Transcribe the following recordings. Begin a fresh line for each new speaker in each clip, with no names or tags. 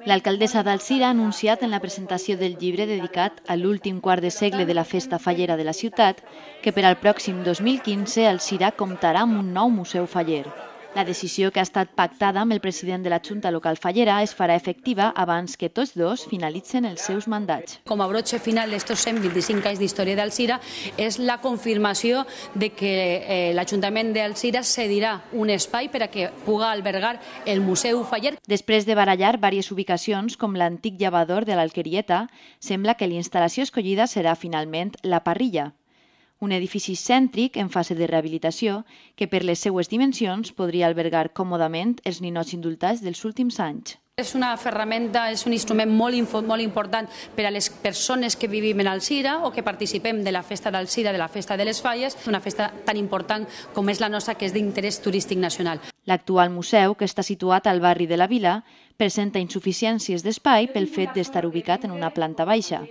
L'alcaldessa d'Alzira ha anunciat en la presentació del llibre dedicat a l'últim quart de segle de la festa fallera de la ciutat que per al pròxim 2015 Alzira comptarà amb un nou museu faller. La decisió, que ha estat pactada amb el president de la Junta Local Fallera, es farà efectiva abans que tots dos finalitzen els seus mandats.
Com a broche final d'estos 125 anys d'història d'Alzira és la confirmació de que l'Ajuntament d'Alzira cedirà un espai per a que pugui albergar el Museu Faller.
Després de barallar diverses ubicacions, com l'antic llavador de l'Alquerieta, sembla que la instal·lació escollida serà finalment la Parrilla, un edifici cèntric en fase de rehabilitació que per les seues dimensions podria albergar còmodament els ninots indultats dels últims anys.
És una ferramenta, és un instrument molt important per a les persones que vivim en Alzira o que participem de la festa d'Alzira, de la festa de les Falles, una festa tan important com és la nostra, que és d'interès turístic nacional.
L'actual museu, que està situat al barri de la Vila, presenta insuficiències d'espai pel fet d'estar ubicat en una planta baixa.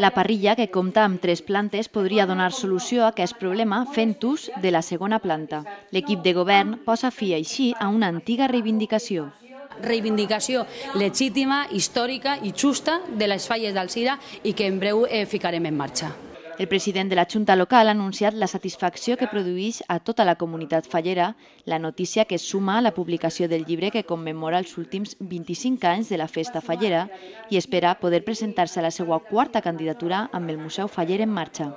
La Parrilla, que compta amb 3 plantes, podria donar solució a aquest problema fent ús de la segona planta. L'equip de govern posa fi així a una antiga reivindicació.
Reivindicació legítima, històrica i justa de les Falles d'Alzira i que en breu ficarem en marxa.
El president de la Junta Local ha anunciat la satisfacció que produeix a tota la comunitat fallera la notícia que es suma a la publicació del llibre que commemora els últims 25 anys de la festa fallera i espera poder presentar-se a la seva 4a candidatura amb el Museu Faller en marxa.